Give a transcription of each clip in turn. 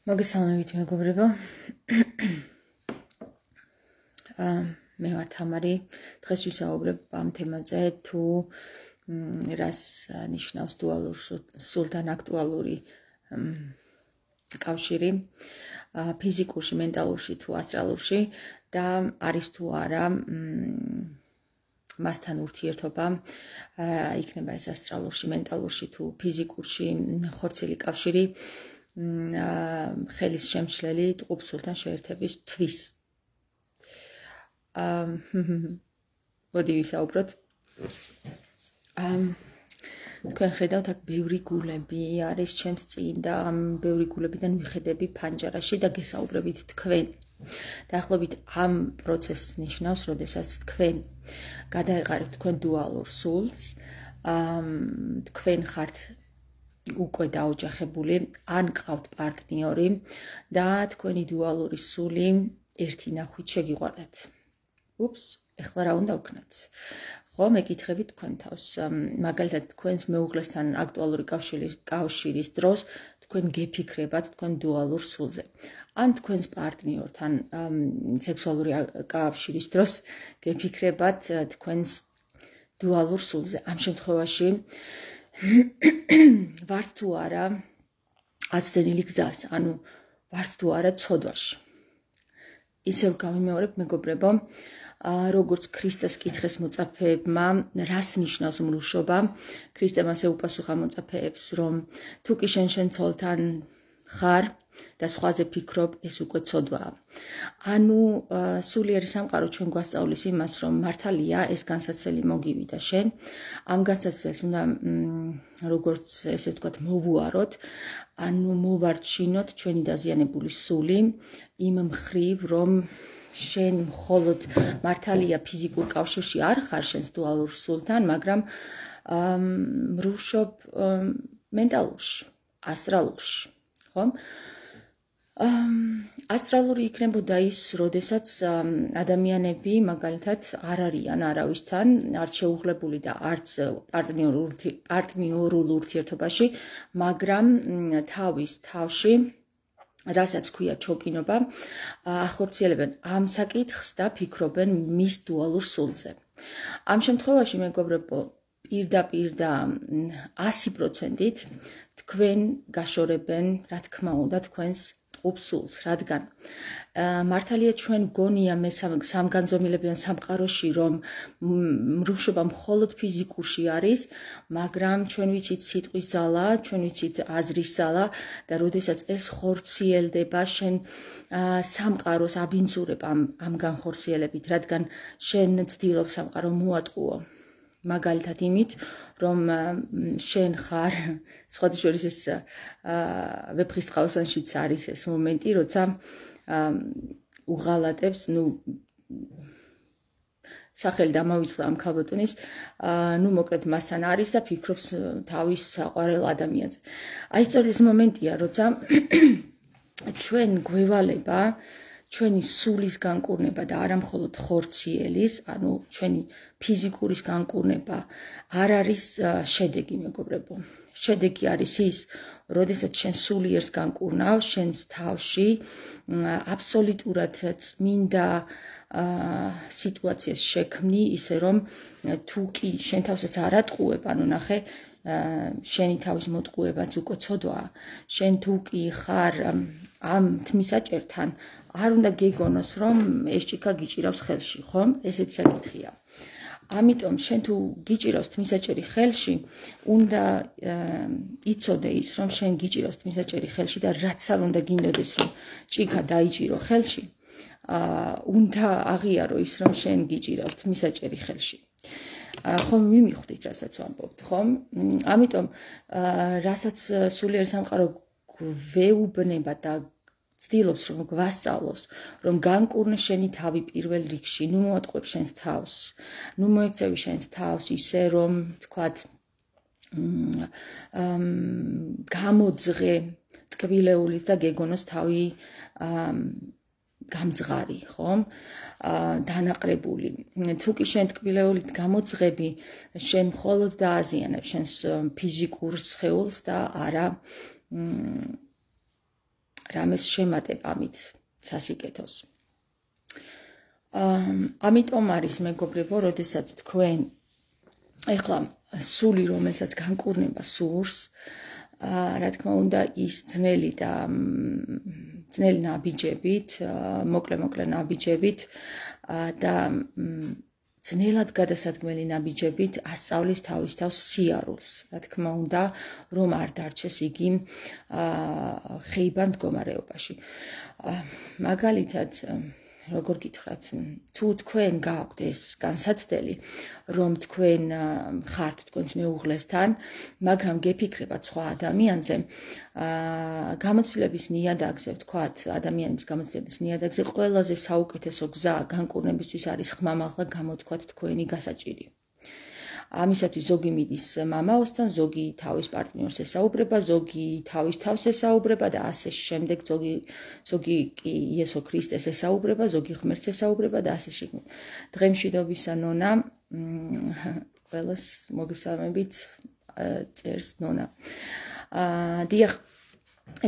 მოგესალმებით მეგობრებო. მე ვარ თამარი. დღეს ვისაუბრებ ამ თემაზე, თუ რას ნიშნავს დუალურ სულთან აქტუალური კავშირი ფიზიკურში, მენტალურში თუ ასტრალურში და არის თუ არა მასთან ურთიერთობა იქნება ეს ასტრალურში, მენტალურში თუ ფიზიკურში ხორციელი კავშირი ხელის შემცვლელი ტყუპსულთან შეერთების თვის. მოდი ვისაუბროთ. თქვენ ხედავთ, აქ ბევრი გულები არის ჩემს წინ და ამ ბევრი გულებიდან ვიხედები ფანჯარაში და გესაუბრებით თქვენ. დაახლოებით ამ პროცესს ნიშნავს, როდესაც თქვენ გადაეყარებთ თქვენ დუალურ სულს, თქვენ ხართ უკვე დაოჯახებული, ან გყავთ პარტნიორი და თქვენი დუალური სული ერთი ნახვით შეგიყვარდათ. ეხლა რა უნდა ვქნათ? ხო, მეკითხებით თქვენ თავს. მაგალითად, თქვენს მეუღლესთან აქტუალური კავშირის დროს თქვენ გეფიქრებათ თქვენ დუალურ სულზე. ან თქვენს პარტნიორთან სექსუალური კავშირის დროს გეფიქრებათ თქვენს დუალურ სულზე. ამ შემთხვევაში ვართ თუ არა აცდენილი გზას, ანუ ვართ თუ არა ცოდვაში. ისევ გავიმეორებ მეგობრებო, როგორც ქრისტეს კითხეს მოწაფეებმა, რას ნიშნავს მლუშობა, ქრისტემ ასე უპასუხა მოწაფეებს, რომ თუ კი შენ ცოლთან ხარ და სხვაზე ფიქრობ, ეს უკვე ცოდვაა. ანუ სულიერი სამყარო ჩვენ გვასწავლის იმას, რომ მართალია ეს განსაცდელი მოგივიდა შენ, ამ განსაცდელს უნდა როგორც ესე ვთქვათ მოვუაროთ, ანუ მოვარჩინოთ ჩვენი დაზიანებული სული იმ მხრივ, რომ შენ მხოლოდ მართალია ფიზიკურ კავშირში არ ხარ შენს დუალურ სულთან, მაგრამ მრუშობ მენტალურში, ასტრალურში, ხო? ასტრალური იქნებოდა ის, როდესაც ადამიანები მაგალითად არ არიან არავისთან, არც შეუღლებული და არც პარტნიორულ ურთიერთობაში, მაგრამ თავის თავში, რასაც ქვია ჩოკინობა, ახორციელებენ ამ საკითხს და ფიქრობენ მის დუალურ სულზე. ამ შემთხვევაში მეგობრებო, პირდაპირ და 100%-ით თქვენ გაშორებენ, რა თქმა უნდა, თქვენს ტყუპსულს, რადგან მართალია ჩვენ გონია მე სამგანზომილებიან სამყაროში, რომ მრუშობა მხოლოდ ფიზიკურში არის, მაგრამ ჩვენ ვიცით სიტყვის ძალა, ჩვენ ვიცით აზრის ძალა და როდესაც ეს ხორციელდება, შენ სამყაროს აბინძურებ ამ განხორციელებით, რადგან შენ ცდილობ სამყარო მოატყუო. მაგალითად იმით, რომ შენ ხარ, სხვადასხვა ეს ვეფხისტყაოსანშიც არის ეს მომენტი, როცა უღალატებს, სახელი დამავიწყდა ამ ქალბატონის, მოკლედ მასთან არის და ფიქრობს თავის საყვარელ ადამიანზე. აი სწორედ ეს მომენტია, როცა ჩვენ გვევალება ჩვენი სულის განკურნება და არა მხოლოდ ხორციელის, ანუ ჩვენი ფიზიკურის განკურნება არ არის შედეგი, მეგობრებო. შედეგი არის ის, როდესაც შენ სულიერს განკურნავ, შენს თავში აბსოლუტურად წმინდა სიტუაციას შექმნი, ისე რომ თუ კი შენ თავსაც არ ატყუებ, ანუ ნახე, შენი თავის მოტყუებაც უკვე ცოდვაა. შენ თუ კი ხარ ამ თმისაჭერთან, არ უნდა გეგონოს, რომ ეს ჭიქა გიჭირავს ხელში, ხო? ესეთი საკითხია. ამიტომ შენ თუ გიჭირავს თმისაჭერი ხელში, უნდა იცოდე ის, რომ შენ გიჭირავს თმისაჭერი ხელში და რაც არ უნდა გინდოდეს, რომ ჭიქა დაიჭირო ხელში, უნდა აღიარო ის, რომ შენ გიჭირავს თმისაჭერი ხელში. ხომ მიმიხვდით, რასაც ვამბობთ, ხომ? ამიტომ რასაც სულიერი სამყარო გვეუბნება და ცდილობს, რომ გვასწავლოს, რომ განკურნე შენი თავი პირველ რიგში, მოატყუებ შენს თავს, მოექცევი შენს თავს ისე, რომ თქვათ გამოძღე ტკბილეულით და გეგონოს თავი გამძღარი, ხომ? დანაყრებული. თუ კი შენ ტკბილეულით გამოძღები, შენ მხოლოდ დააზიანებ შენს ფიზიკურ სხეულს და არა რამეს შემატებ ამით სასიკეთოს. ამიტომ არის მეგობრებო, როდესაც თქვენ ეხლა სული, რომელსაც განკურნება სურს, რა თქმა უნდა, ის ძნელი ნაბიჯებით, მოკლე ნაბიჯებით და ძნელად გადასადგმელი ნაბიჯებით ასწავლის თავის თავს სიარულს. რა თქმა უნდა, რომ არ დარჩეს იგი ხეიბარ მდგომარეობაში. მაგალითად, როგორ გითხრათ, თუ თქვენ გააქვთ ეს განსაცდელი, რომ თქვენ ხართ თქვენს მეუღლესთან, მაგრამ გეფიქრებათ სხვა ადამიანზე, გამოცდილების ნიადაგზე, ვთქვათ, ადამიანების გამოცდილების ნიადაგზე, ყველაზე საუკეთესო გზა განკურნებისთვის არის ხმამაღლა გამოთქვათ თქვენი გასაჭირი. ამისათვის ზოგი მიდის მამაოსთან, ზოგი თავის პარტნიორს ესაუბრება, ზოგი თავის თავს ესაუბრება და ასე შემდეგ, ზოგი კი იესო ქრისტეს ესაუბრება, ზოგი ღმერთს ესაუბრება და ასე შემდეგ. დღემშვიდობისა ნონა, ყველას მოგესალმებით, წერს ნონა. დიახ,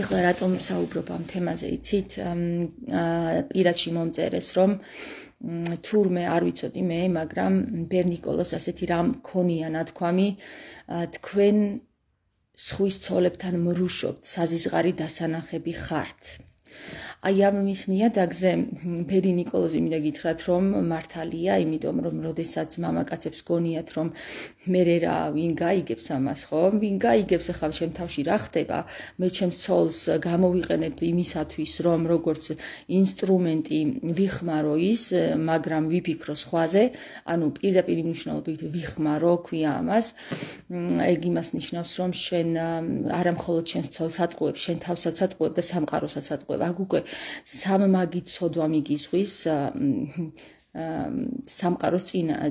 ეხლა რატომ საუბრობ ამ თემაზე, იცით? პირადში მომწერეს, რომ თურმე არ ვიცოდი მე, მაგრამ ბერნიკოლოს ასეთი რამ ქონია ნათქვამი, თქვენ სხვის ცოლებთან მრუშობთ, საზიზღარი დასანახები ხართ. აი ამ მის ნიადაგზე ბერი ნიკოლოზი მინდა გითხრათ, რომ მართალია, იმიტომ რომ როდესაც მამაკაცებს გონიათ, რომ მე რა ვინ გაიგებს ამას, ხო? ვინ გაიგებს ახლა ჩემ თავში რა ხდება? მე ჩემს ცოლს გამოვიყენებ იმისათვის, რომ როგორც ინსტრუმენტი ვიხმარო ის, მაგრამ ვიფიქრო სხვაზე, ანუ პირდაპირ მნიშვნელობით ვიხმარო, ქვია ამას. ეგ იმას ნიშნავს, რომ შენ არა მხოლოდ შენს ცოლს ატყუებ, შენ თავსაც ატყუებ და სამყაროსაც ატყუებ. აქ უკვე სამმაგი ცოდვა მიგიზღვის სამყაროს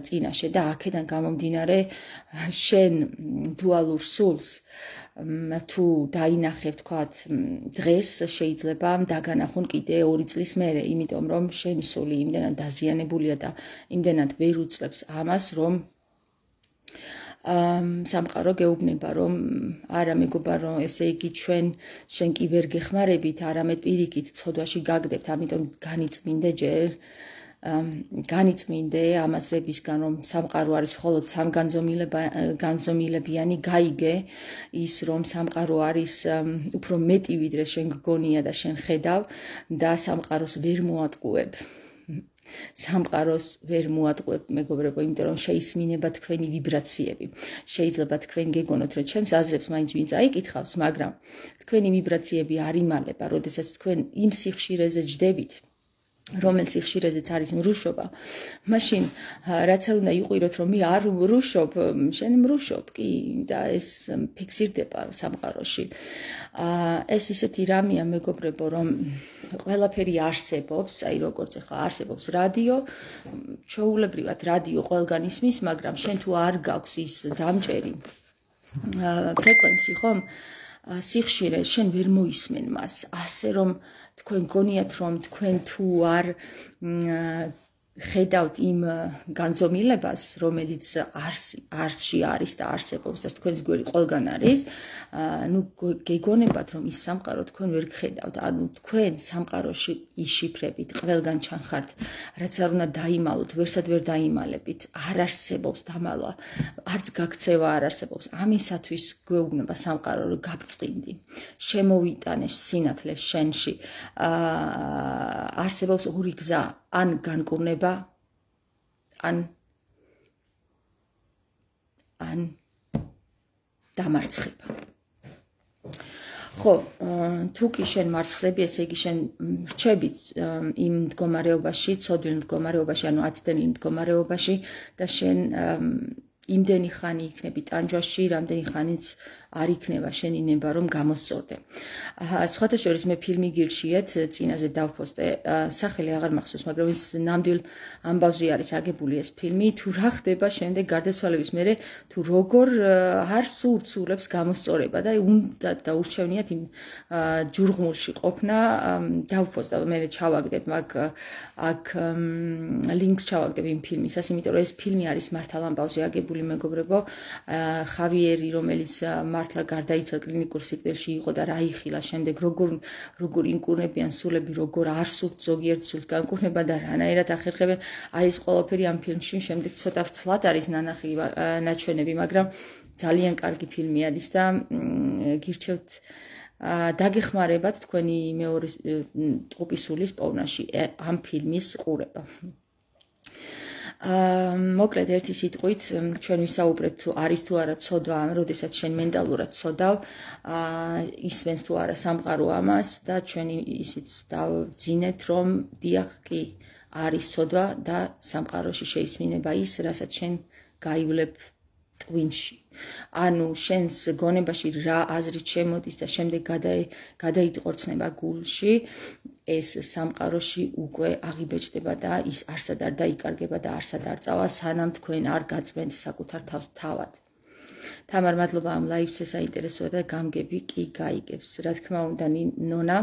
წინაშე და აქედან გამომდინარე შენ დუალურ სულს თუ დაინახე, ვთქვათ, დღეს შეიძლება დაგანახონ კიდე 2 წლის მერე, იმიტომ რომ შენი სული იმდენად დაზიანებულია და იმდენად ვერ უძლებს ამას, რომ სამყარო გეუბნება, რომ არა მეგობარო, ესე იგი შენ კი ვერ გეხმარებით, არამედ პირიქით ცოდვაში გაგდებთ, ამიტომ განიწმინდე ამასრებისგან, რომ სამყარო არის მხოლოდ სამგანზომილებიანი, გაიგე ის, რომ სამყარო არის უფრო მეტი ვიდრე შენ გგონია და შენ ხედავ და სამყაროს ვერ მოატყუებ. სამყაროს ვერ მოატყუებ, მეგობრებო, იმიტომ რომ შეისმინება თქვენი ვიბრაციები. შეიძლება თქვენ გეგონოთ, რომ ჩემს აზრებს მაინც ვინც აიკითხავს, მაგრამ თქვენი ვიბრაციები არ იმალება, როდესაც თქვენ იმ სიხშირეზე ჯდებით, რომელ სიხშირეზეც არის მრუშობა, მაშინ რაც არ უნდა იყვიროთ, რომ მე არ მრუშობ, შენ მრუშობ კი და ეს ფიქსირდება სამყაროში. ეს ისეთი რამეა, მეგობრებო, რომ ყველაფერი არსებობს, აი როგორც ახლა არსებობს რადიო, ჩვეულებრივად რადიო ყველგან ისმის, მაგრამ შენ თუ არ გაქვს ის დამჭერი ფრეკვენცი, ხომ? სიხშირე, შენ ვერ მოისმენ მას, ასე რომ თქვენ გონიათ, რომ თქვენ თუ არ ხედავთ იმ განზომილებას, რომელიც არსში არის და არსებობს და თქვენს გვერდი ყველგან არის, ნუ გეგონებათ, რომ ის სამყარო თქვენ ვერ გხედავთ, ანუ თქვენ სამყაროში იშიფრებით, ყველგან ჩანხართ, რაც არ უნდა დაიმალოთ, ვერსად ვერ დაიმალებით, არ არსებობს დამალვა, არც გაქცევა არ არსებობს. ამისათვის გვეუბნება სამყარო, რომ გაბწყინდი, შემოვიტანე სინათლე შენში. არსებობს 2 გზა, ან განკურნება, ან დამარცხება. ხო, თუ კი შენ მარცხდები, ესე იგი შენ რჩებით იმ მდგომარეობაში, ცოდვილ მდგომარეობაში, ანუ აცდენილ მდგომარეობაში და შენ იმდენი ხანი იქნები ტანჯვაში, რამდენი ხანიც არ იქნება შენი ნება, რომ გამოსწორდე. სხვათა შორის მე ფილმი გირჩიეთ, წინაზე დავპოსტე, სახელი აღარ მახსოვს, მაგრამ ის ნამდვილ ამბავზე არის აგებული ეს ფილმი, თუ რა ხდება შემდეგ გარდაცვალების მერე, თუ როგორ არ სურცულებს გამოსწორება და უნდა დაურჩევნიათ იმ ჯურღმულში ყოფნა, დავპოსტა, მე ჩავაგდებ აქ ლინკს ჩავაგდებ იმ ფილმისას, იმიტომ რომ ეს ფილმი არის მართალ ამბავზე აგებული, მეგობრებო, ხავიერი, რომელიც მართლა გარდაიცვალა კლინიკურ სიკვდილში იყო და რა იხილა შემდეგ როგორ ინკურნებიან სულები, როგორ არ სურთ ზოგიერთ სულს განკურნება და რანაირად ახერხებენ. აი ეს ყველაფერი ამ ფილმში შემდეგ ცოტა ვცლად არის ნანახი ნაჩვენები, მაგრამ ძალიან კარგი ფილმი არის და გირჩევთ დაგეხმარებათ თქვენი მეორე ტყუპი სულის პოვნაში ამ ფილმის ყურება. მოკლედ ერთი სიტყვით ჩვენ ვისაუბრეთ თუ არის თუ არა ცოდვა, როდესაც შენ მენტალურად ცოდავ, ისმენს თუ არა სამყარო ამას და ჩვენ ისიც დავძინეთ რომ დიახ კი არის ცოდვა და სამყაროში შეისმინება ის, რასაც შენ გაივლებ ტვინში. ანუ შენს გონებაში რა აზრით შემოდის და შემდეგ გადაიტყორცნება გულში, ეს სამყაროში უკვე აღიბეჭდება და ის არსად არ დაიკარგება და არსად არ წავა, სანამ თქვენ არ გაწმენთ საკუთარ თავს თავად. თამარ, მადლობა ამ ლაივზე საინტერესოა და გამგები კი გაიგებს. რა თქმა უნდა, ნონა,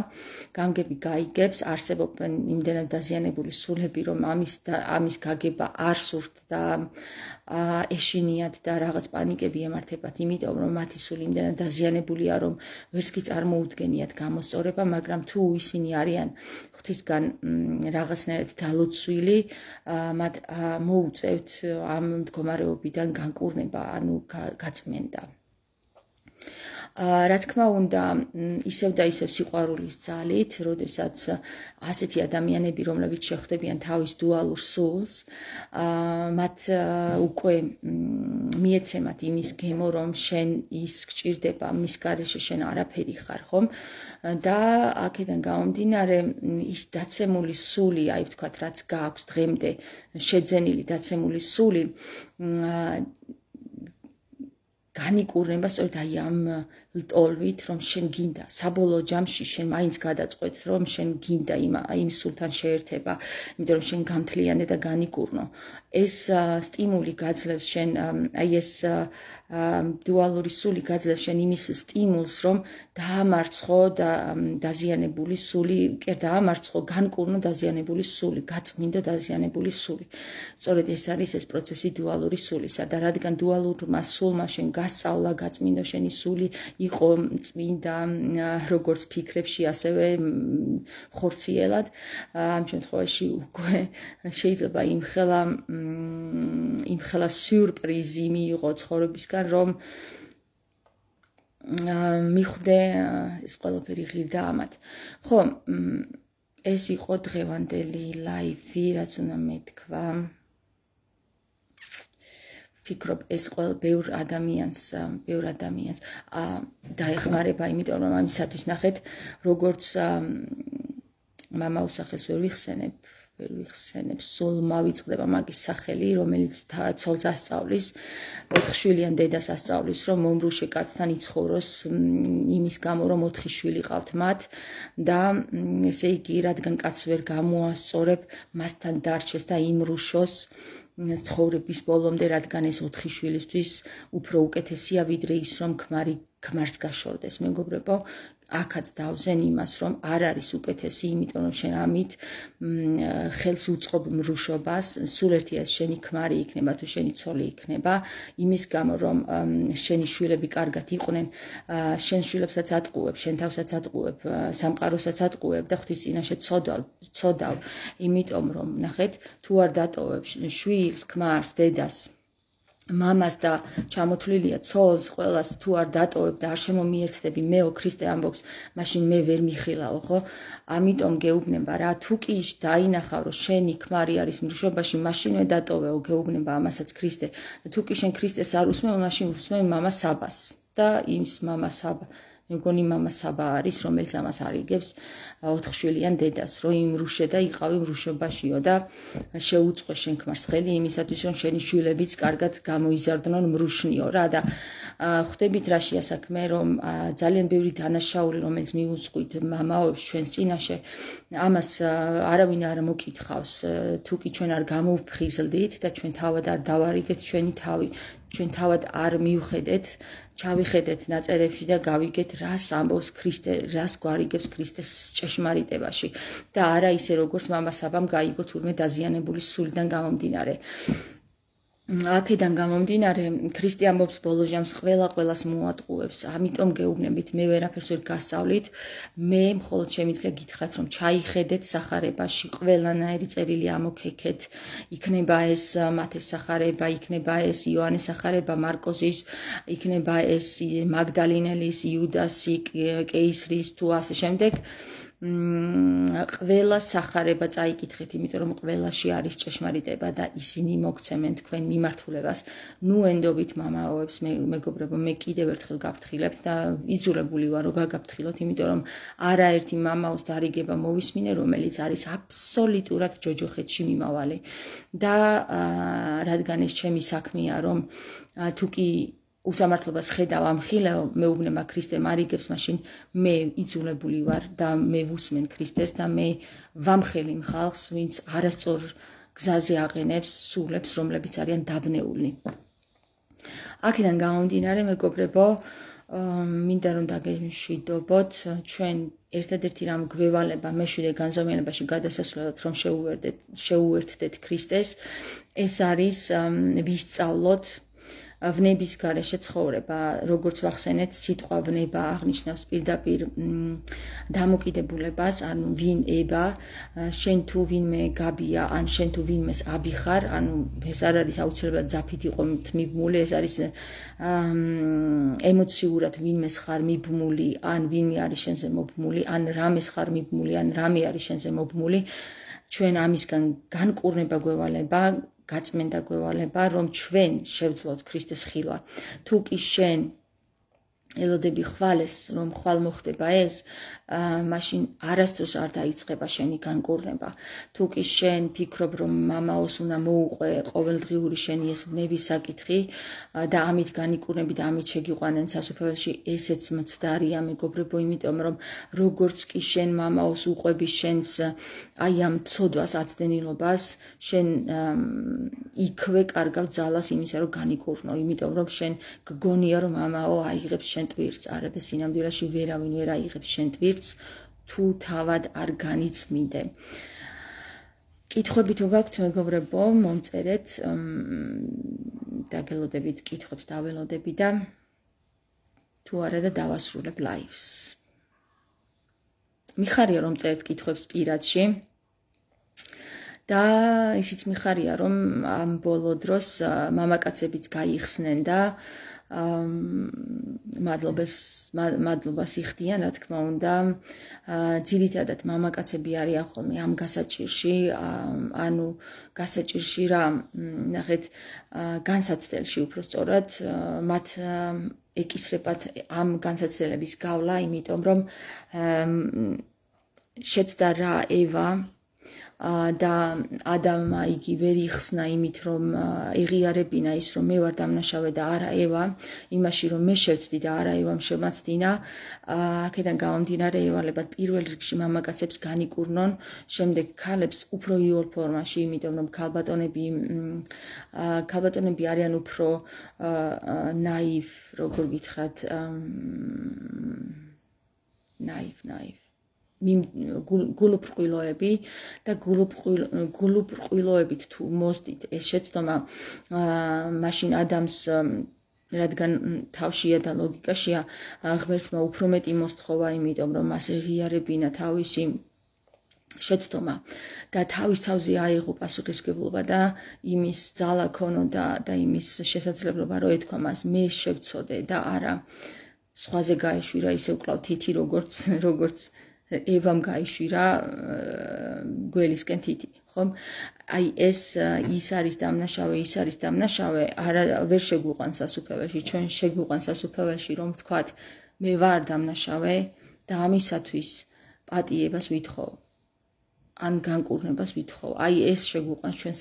გამგები გაიგებს, არსებობენ იმდენად დაზიანებული სულები, რომ ამის გაგება არ სურთ და ეშინიათ და რაღაც პანიკები ემართებათ, იმიტომ რომ მათი სული იმდენად დაზიანებულია, რომ ვერც კი წარმოუდგენიათ გამოსწორება, მაგრამ თუ ისინი არიან ღვთისგან რაღაცნაირად დალოცვილი, მათ მოუწევთ ამ მდგომარეობიდან განკურნება, ანუ გაწმენდა. რა თქმა უნდა, ისევ და ისევ სიყვარულის ძალით, როდესაც ასეთი ადამიანები, რომლებიც შეხვდებიან თავის დუალურ სულს, მათ უკვე მიეცემათ იმის გემო, რომ შენ ის გჭირდება, მის გარეშე შენ არაფერი ხარ, ხომ? და აქედან გამომდინარე, ის დაცემული სული, აი ვთქვათ, რაც გააქვს დღემდე შეძენილი დაცემული სული, განიკურნება სწორედ აი ამ ლტოლვით, რომ შენ გინდა, საბოლოო ჯამში შენ მაინც გადაწყვეტ, რომ შენ გინდა იმ სულთან შეერთება, იმიტომ რომ შენ გამთლიანე და განიკურნო. ეს სტიმული გაძლევს შენ, აი ეს დუალური სული გაძლევს შენ იმის სტიმულს, რომ დაამარცხო და დაზიანებული სული, კი დაამარცხო, განკურნო დაზიანებული სული, გაწმინდო დაზიანებული სული. სწორედ ეს არის ეს პროცესი დუალური სულისა და რადგან დუალურმა სულმა შენ გასწავლა, გაწმინდო შენი სული, იყო წმინდა როგორც ფიქრებში, ასევე ხორციელად. ამ შემთხვევაში უკვე შეიძლება იმხელა სიურპრიზი მიიღო ცხოვრებისგან, რომ მიხვდე ეს ყველაფერი ღირდა ამათ. ხო, ეს იყო დღევანდელი ლაივი, რაც უნდა მეთქვა. ვფიქრობ, ეს ბევრ ადამიანს დაეხმარება, იმიტომ რომ ამისათვის ნახეთ, როგორც მამაოსახელს ვერ ვიხსენებ, სულ მავიწყდება მაგის სახელი, რომელიც ცოლს ასწავლის, 4 შვილიან დედას ასწავლის, რომ მომრუშე კაცთან იცხოვროს იმის გამო, რომ 4 შვილი ყავთ მათ და ესე იგი, რადგან კაცს ვერ გამოასწორებ, მასთან დარჩეს და იმრუშოს ცხოვრების ბოლომდე, რადგან ეს 4 შვილისთვის უფრო უკეთესია, ვიდრე ის, რომ ქმარს გაშორდეს. მეგობრებო, აქაც დავზენ იმას, რომ არ არის უკეთესი, იმიტომ რომ შენ ამით ხელს უწყობ მრუშობას, სულ ერთია შენი ქმარი იქნება თუ შენი ცოლი იქნება, იმის გამო, რომ შენი შვილები კარგად იყვნენ, შენ შვილებსაც ატყუებ, შენ თავსაც ატყუებ, სამყაროსაც ატყუებ და ღვთის წინაშე ცოდავ, იმიტომ რომ ნახეთ, თუ არ დატოვებ შვილს, ქმარს, დედას, მამას და ჩამოთვლილია ცოლს, ყველას თუ არ დატოვებ და არ შემომიერთდები, მეო ქრისტე ამბობს, მაშინ მე ვერ მიხილაო, ხო? ამიტომ გეუბნება რა, თუ კი დაინახავ, რომ შენი ქმარი არის მრუშობაში, მაშინვე დატოვეო, გეუბნება ამასაც ქრისტე. და თუ კი შენ ქრისტეს არ უსმევ, მაშინ უსმევ მამა საბას და იმის მამა საბა. მეგონი მამა საბა არის, რომელიც ამას არიგებს 4 შვილიან დედას, რომ იმრუშე და იყავი მრუშობაშიო და შეუწყო შენ ქმარს ხელი იმისათვის, რომ შენი შვილებიც კარგად გამოიზარდნონ მრუშნიო რა და ხვდებით რაშია საქმე, რომ ძალიან ბევრი დანაშაული, რომელიც მიუძღვით მამაოებს ჩვენს წინაშე, ამას არავინ არ მოკითხავს, თუ კი ჩვენ არ გამოვფხიზლდით და ჩვენ თავად არ დავარიგეთ ჩვენი თავი, ჩვენ თავად არ მივხედეთ, ჩავიხედეთ ნაწერებში და გავიგეთ, რას ამბობს ქრისტე, რას გვარიგებს ქრისტეს ჭეშმარიტებაში და არა ისე, როგორც მამა საბამ გაიგო თურმე დაზიანებული სულიდან გამომდინარე. აქედან გამომდინარე ქრისტე ამბობს ბოლო ჟამს ყველას მოატყუებს, ამიტომ გეუბნებით, მე ვერაფერს ვერ გასწავლით, მე მხოლოდ შემიძლია გითხრათ, რომ ჩაიხედეთ სახარებაში, ყველანაირი წერილი ამოქეკეთ, იქნება ეს მათეს სახარება, იქნება ეს იოანეს სახარება, მარკოზის, იქნება ეს მაგდალინელის, იუდასი, კეისრის თუ ასე შემდეგ. ყველა სახარება წაიკითხეთ, იმიტომ რომ ყველაში არის ჭეშმარიტება და ისინი მოგცემენ თქვენ მიმართულებას. ნუ ენდობით მამაოებს, მეგობრებო, მე კიდევ ერთხელ გაფრთხილებთ და იძულებული ვარ რომ გაგაფრთხილოთ, იმიტომ რომ არაერთი მამაოს დარიგება მოვისმინე, რომელიც არის აბსოლუტურად ჯოჯოხეთში მიმავალი. და რადგან ეს ჩემი საქმეა, რომ თუ კი უსამართლობას ხედავ ამ ხილეო, მეუბნება ქრისტემ არიგებს, მაშინ მე იძულებული ვარ და მე ვუსმენ ქრისტეს და მე ვამხელი ხალხს, ვინც არასწორ გზაზე აყენებს სულებს, რომლებიც არიან დაბნეული. აქედან გამომდინარე, მეგობრებო, მინდა რომ დაგემშვიდობოთ, ჩვენ ერთადერთი რამ გვევალება მეშვიდე განზომილებაში გადასასვლელად, რომ შეუერთდეთ ქრისტეს, ეს არის ვისწავლოთ ვნების გარეშე ცხოვრება, როგორც ვახსენეთ, სიტყვა ვნება აღნიშნავს პირდაპირ დამოკიდებულებას, ანუ ვინ ება, შენ თუ ვინმე გაბია, ან შენ თუ ვინმეს აბიხარ, ანუ ეს არ არის აუცილებლად ძაფით იყო მიბმული, ეს არის ემოციურად ვინმეს ხარ მიბმული, ან ვინმე არის შენზე მობმული, ან რამეს ხარ მიბმული, ან რამე არის შენზე მობმული, ჩვენ ამისგან განკურნება გვევალება, გაწმენდა გვევალება, რომ ჩვენ შევძლოთ ქრისტეს ხილვა. თუ კი შენ ელოდები ხვალეს, რომ ხვალ მოხდება ეს, მაშინ არასდროს არ დაიწყება შენი განკურნება. თუ კი შენ ფიქრობ, რომ მამაოს უნდა მოუყვე ყოველდღიური შენი ეს ვნების საკითხი და ამით განიკურნები და ამით შეგიყვანენ სასუფეველში, ესეც მცდარია, მეგობრებო, იმიტომ რომ როგორც კი შენ მამაოს უყვები შენს აი ამ ცოდვას, აცდენილობას, შენ იქვე კარგავ ძალას იმისა, რომ განიკურნო, იმიტომ რომ შენ გგონია, რომ მამაო აიღებს შენ ტვირთს, არა და სინამდვილეში ვერავინ ვერ აიღებს შენ ტვირთს, თუ თავად არ განიწმინდე. კითხვები თუ გაქვთ, მეგობრებო, მომწერეთ, დაგელოდებით კითხვებს დაველოდები და თუ არა და დავასრულებ ლაივს. მიხარია რომ წერთ კითხვებს პირადში და ისიც მიხარია რომ ამ ბოლო დროს მამაკაცებიც გაიხსნენ და მადლობას იხდიან, რა თქმა უნდა, ძირითადად მამაკაცები არიან ხოლმე ამ გასაჭირში, ანუ გასაჭირში რა, ნახეთ, განსაცდელში უფრო სწორად, მათ ეკისრებათ ამ განსაცდელების გავლა, იმიტომ რომ შეცდა რა ევა და ადამმა იგი ვერ იხსნა იმით, რომ იღიარებინა ის, რომ მე ვარ დამნაშავე და არა ევა, იმაში, რომ მე შევცდი და არა ევამ შემაცდინა, აქედან გამომდინარე ევალებათ პირველ რიგში მამაკაცებს განიკურნონ, შემდეგ ქალებს უფრო იოლ ფორმაში, იმიტომ რომ ქალბატონები არიან უფრო ნაივ, როგორ გითხრათ, ნაივ გულუბრყვილოები და გულუბრყვილოებით თუ მოსდით ეს შეცდომა მაშინ ადამიანს რადგან თავშია და ლოგიკაშია ღმერთმა უფრო მეტი მოსთხოვა, იმიტომ რომ მას ეღიარებინა თავისი შეცდომა და თავის თავზე აიღო პასუხისმგებლობა და იმის ძალა ქონოდა და იმის შესაძლებლობა რომ ეთქვა მას მე შევცოდე და არა სხვაზე გაეშვირა ისევ კლავ თითი როგორც ევამ გაიშვირა გველისკენ თითი, ხომ? აი ეს ის არის დამნაშავე, არა ვერ შეგვიყვანს სასუფეველში, ჩვენ შეგვიყვანს სასუფეველში, რომ ვთქვათ, მე ვარ დამნაშავე და ამისათვის პატიებას ვითხოვ, ან განკურნებას ვითხოვ. აი ეს შეგვიყვანს ჩვენ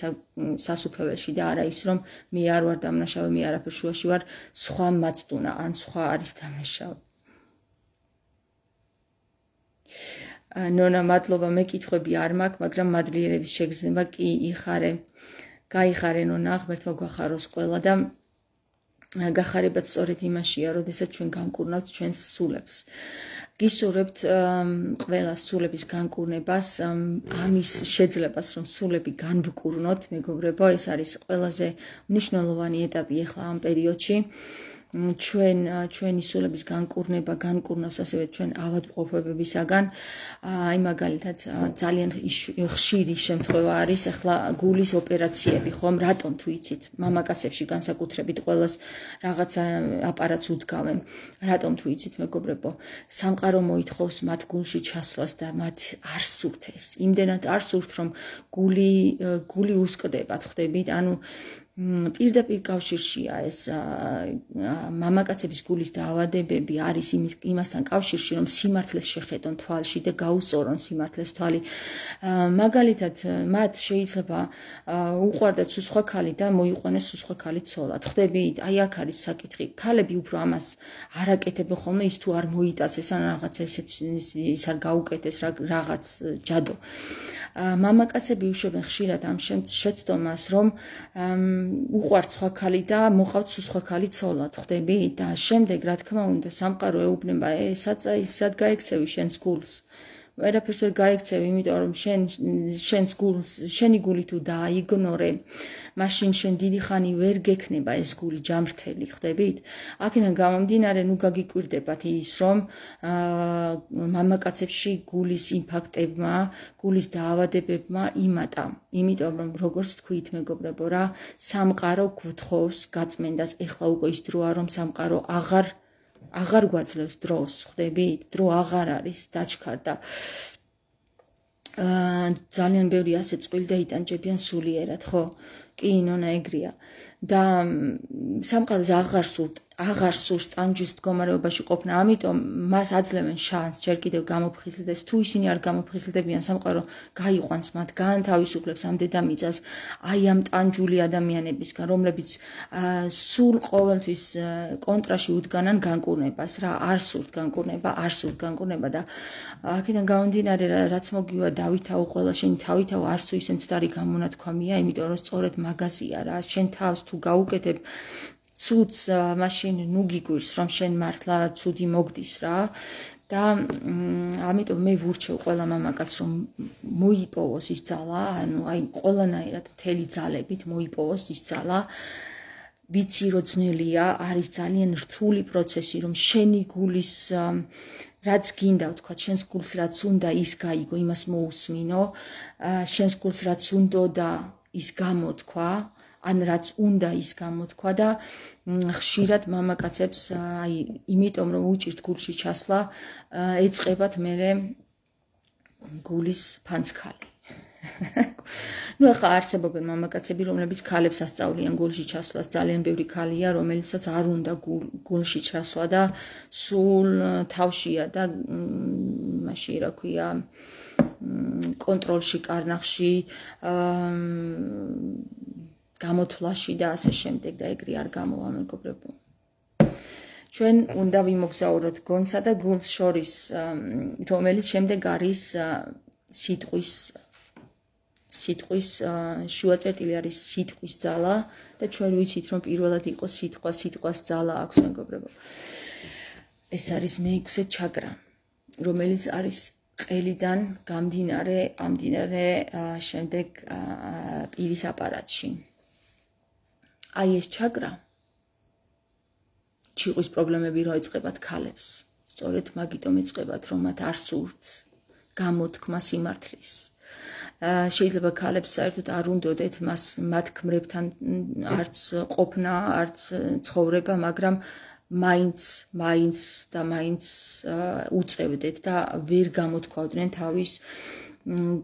სასუფეველში და არა ის, რომ მე არ ვარ დამნაშავე, მე არაფერ შუაში ვარ, სხვა მაცდუნა, ან სხვა არის დამნაშავე. ნონა, მადლობა, მე კითხვები არ მაქვს, მაგრამ მადლიერების შეგრძნება კი იხარე. გაიხარე ნონა, ღმერთმა გვახაროს ყველა და გახარებაც სწორედ იმაშია, როდესაც ჩვენ განკურნავთ ჩვენს სულებს. გისურვებთ ყველას სულების განკურნებას, ამის შეძლებას, რომ სულები განვკურნოთ, მეგობრებო, ეს არის ყველაზე მნიშვნელოვანი ეტაპი ახლა ამ პერიოდში. ჩვენი სულების განკურნება განკურნავს ასევე ჩვენ ავადმყოფობებისაგან. აი მაგალითად ძალიან ხშირი შემთხვევა არის ახლა გულის ოპერაციები, ხომ? რატომ თუ იცით, მამაკაცებში განსაკუთრებით ყველას რაღაცა აპარატს უდგავენ. რატომ თუ იცით, მეგობრებო, სამყარო მოითხოვს მათ გულში ჩასვლას და მათ არ სურთ ეს. იმდენად არ სურთ, რომ გული უსკდებათ, ხვდებით? ანუ პირდაპირ კავშირშია ეს მამაკაცების გულის დაავადებები არის იმასთან კავშირში, რომ სიმართლეს შეხედონ თვალში და გაუსწორონ სიმართლეს თვალი. მაგალითად, მათ შეიძლება უყვარდათ სუსხვა ქალი და მოიყვანეს სუსხვა ქალი ცოლად. ხვდებით? აი აქ არის საკითხი. ქალები უფრო ამას არ აკეთებენ ხოლმე, ის თუ არ მოიტაცეს ან რაღაცა ის არ გაუკეთეს რაღაც ჯადო. მამაკაცები უშვებენ ხშირად ამ შეცდომას, რომ უყვართ სხვა ქალი და მოყავთ სუსხვა ქალი ცოლად, ხვდებით? და შემდეგ, რა თქმა უნდა, სამყარო ეუბნება, სად გაიქცევი შენს გულს? ვერაფერს ვერ გაიქცევი, იმიტომ რომ შენს გულს, შენი გული თუ დააიგნორე, მაშინ შენ დიდი ხანი ვერ გექნება ეს გული ჯამრთელი, ხვდებით? აქედან გამომდინარე, ნუ გაგიკვირდებათ ის, რომ მამაკაცებში გულის ინფარქტებმა, გულის დაავადებებმა იმატა. იმიტომ რომ როგორც თქვით, მეგობრებო, რა, სამყარო გვთხოვს გაწმენდას. ეხლა უკვე ის დროა, რომ სამყარო აღარ გვაძლევს დროს, ხვდებით? დრო აღარ არის, დაჩქარდა. ძალიან ბევრი ასე წყვილი და იტანჯებიან სულიერად, ხო? კი, ნონა ეგრეა. და სამყაროს აღარ სურს ტანჯვის მდგომარეობაში ყოფნა, ამიტომ მას აძლევენ შანსს ჯერ კიდევ გამოფხიზლდეს. თუ ისინი არ გამოფხიზლდებიან, სამყარო გაიყვანს მათ, გაანთავისუფლებს ამ დედამიწას აი ამ ტანჯული ადამიანებისგან, რომლებიც სულ ყოველთვის კონტრაში უდგანან განკურნებას, რა, არ სურთ განკურნება და აქედან გამომდინარე, რაც მოგივა დავითაო, ყველა შენი თავითაო არც ისე მცდარი გამონათქვამია, იმიტომ რომ სწორედ მაგაზია რა, შენ თავს თუ გაუკეთებ ცუდს, მაშინ ნუ გიგვირს, რომ შენ მართლა ცუდი მოგდის რა. და ამიტომ მე ვურჩევ ყველა მამაკაცს, რომ მოიპოვოს ის ძალა, ანუ აი ყველანაირად მთელი ძალებით მოიპოვოს ის ძალა. ვიცი რომ ძნელია, არის ძალიან რთული პროცესი, რომ შენი გულის რაც გინდა, ვთქვათ, შენს გულს რაც უნდა ის გაიგო, იმას მოусმინო, შენს გულს რაც უნდა და ის გამოთქვა, ან რაც უნდა ის გამოთქვა და ხშირად მამაკაცებს აი იმიტომ რომ უჭირთ გულში ჩასვლა, ეწყებათ მერე გულის ფანცქალი. ნუ ახლა არსებობენ მამაკაცები, რომლებიც ქალებს ასწავლიან გულში ჩასვლას, ძალიან ბევრი ქალია, რომელიცაც არ უნდა გულში ჩასვლა და სულ თავშია და მაშინ რა ქვია კონტროლში, კარნახში, გამოთვლაში და ასე შემდეგ და ეგრე არ გამოვა, მეგობრებო. ჩვენ უნდა ვიმოგზაუროთ გონსა და გულს შორის, რომელიც შემდეგ არის სიტყვის შუაწერტილი არის სიტყვის ძალა და ჩვენ ვიცით რომ პირველად იყო სიტყვას ძალა აქვს, მეგობრებო. ეს არის მეექვსე ჩაკრა, რომელიც არის ყელიდან გამდინარე შემდეგ პირის აპარატში. აი ეს ჩაკრა ჩიყვის პრობლემები რო ეწყებათ ქალებს, სწორედ მაგიტომ ეწყებათ, რომ მათ არ სურთ გამოთქმა სიმართლის. შეიძლება ქალებს საერთოდ არ უნდოდეთ მათ ქმრებთან არც ყოფნა, არც ცხოვრება, მაგრამ მაინც უწევდეთ და ვერ გამოთქვავდნენ თავის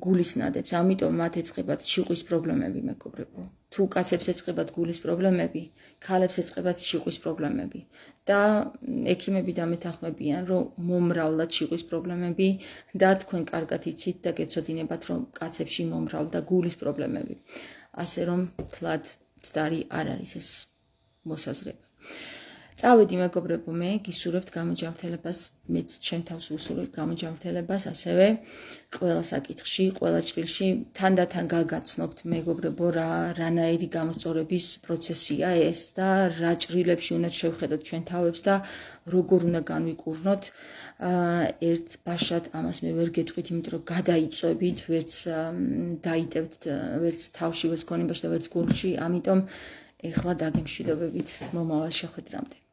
გულის ნადებს. ამიტომ მათ ეწყებათ ჩიყვის პრობლემები, მეგობრებო. თუ კაცებს ეწყებათ გულის პრობლემები, ქალებს ეწყებათ ჩიყვის პრობლემები და ექიმები დამეთანხმებიან, რომ მომრავლად ჩიყვის პრობლემები და თქვენ კარგად იცით და გეცოდინებათ, რომ კაცებში მომრავლდა გულის პრობლემები. ასე რომ თლად მცდარი არ არის ეს მოსაზრება. წავედი მეგობრებო, მე გისურვებთ გამოჯანმრთელებას, მეც ჩემ თავს ვუსურვებ გამოჯანმრთელებას, ასევე ყველა საკითხში, ყველა ჭრილში თანდათან გაგაცნობთ მეგობრებო, რანაირი გამოსწორების პროცესია ეს და რა ჭრილებში უნდა შევხედოთ ჩვენ თავებს და როგორ უნდა განვიკურნოთ. ერთ ბაშად ამას მე ვერ გეტყვით, იმიტომ რომ გადაიწვევით, ვერც დაიტევთ, ვერც თავში, ვერც გონებაში და ვერც გულში, ამიტომ ეხლა დაგემშვიდობებით მომავალ შეხვედრამდე.